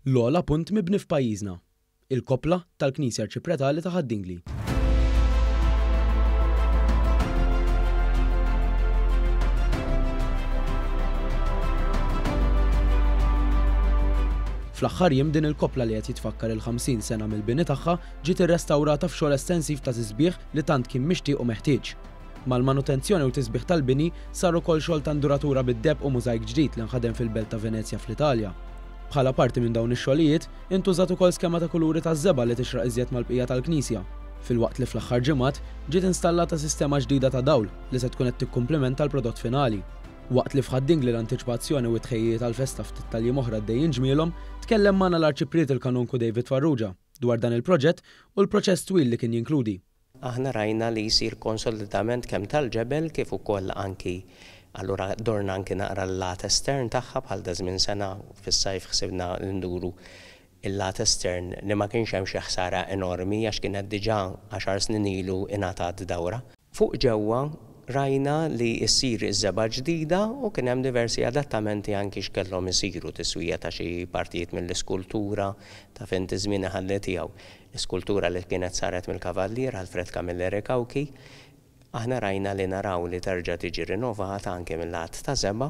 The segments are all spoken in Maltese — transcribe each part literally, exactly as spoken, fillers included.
L-ogħla punt mibni f'pajjiżna, il-koppla tal-Knisja Arċipretali ta' Ħad-Dingli. Fl-aħħar jiem din il-koppla li qed jitfakkar il-ħamsin sena mill-bini tagħha ġiet irrestawrata f'xogħol estensiv ta' tisbieħ li tant kien mixtieq u meħtieġ. Mal-manutenzjoni u tisbieħ tal-bini sar ukoll xogħol ta' induratura bid-deheb u mużajk ġdid li nħadem fil-belt ta' Venezja fl-Italja. Bħala parti minn dawn ix-xogħlijiet, intużat ukoll skema ta' kuluri taż-żebgħa li tixraq iżjed mal-bqija tal-knisja, filwaqt li fl-aħħar ġimgħat ġiet installata sistema ġdida ta' dawl li se tkun qed tikkumplimenta l-prodott finali. Waqt li f'Ħad-Dingli l-antiċipazzjoni u t-tħejjijiet għall-festa ftit tal-jiem oħra għaddejjin ġmielhom, tkellem magħna l-Arċipriet il-Kanonku David Farrugia dwar dan il-proġett u l-proċess twil li kien jinkludi. Aħna rajna li jsir konsolidament kemm tal-ġebel kif ukoll anki allura dorna anki naqra l-lat estern tagħha bħal da żmien sena fis-sajf ħsibna nduru il-lat estern li ma kienx hemm xi ħsara enormi għax kienet diġà għaxar snin ilu ingħatat dawra. Fuq ġewwa rajna li ssir iż-żebgħa ġdida u kien hemm diversi adattamenti anki x'kellhom isiru, tiswija ta' xi partijiet mill-iskultura ta' fejn tiżmien iħalli tiegħu. L-iskultura li kienet saret mill-Kavallier Alfred Camilleri Cauchi, aħna rajna li naraw li terġa' tiġi rinnovata anke mill-lat ta' żebgħa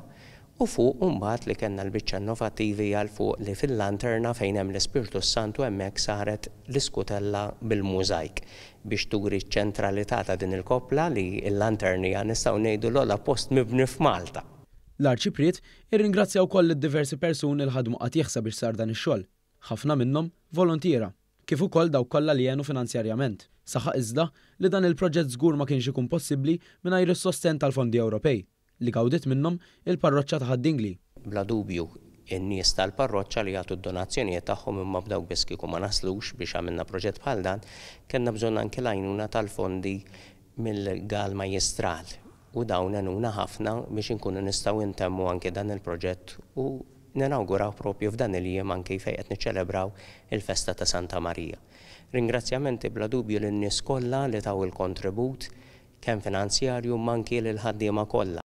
u fuq imbagħad li kellna l-biċċa innovattivi għal fuq li fil-lanterna fejn hemm l-Ispirtu Santu hemmhekk saret l-iskutella bil-mużajk biex turi ċ-ċentralità ta' din il-koppla li l-lanternija nistgħu ngħidu l-ogħla post mibni f'Malta. L-Arċipriet irringrazzja wkoll lid-diversi persuni li ħadmu qatigħ sabiex sar dan ix-xogħol, ħafna minnhom volontiera, kif ukoll dawk kollha li għenu finanzjarjament. Saħaq iżda li dan il-proġett żgur ma kienx ikun possibbli mingħajr is-sostenn tal-fondi Ewropej li gawdiet minnhom il-parroċċa ta' Ħad-Dingli. Bla dubju in-nies tal-parroċċa li jagħtu d-donazzjonijiet tagħhom imma b'dawk biss kieku ma naslux biex għamilna proġett bħal dan, kellna bżonn anke l-għajnuna tal-fondi mill-Gal Majjistral u dawn għenuna ħafna biex inkunu nistgħu ntemmu anke dan il-proġett u ninawguraw propju f'dan il-jiem anke fejn qed niċċelebraw il-festa ta' Santa Marija. Ringrazzjamenti bla dubju lin-nies kollha li taw il-kontribut kemm finanzjarju ma anki lil ħaddiema kollha.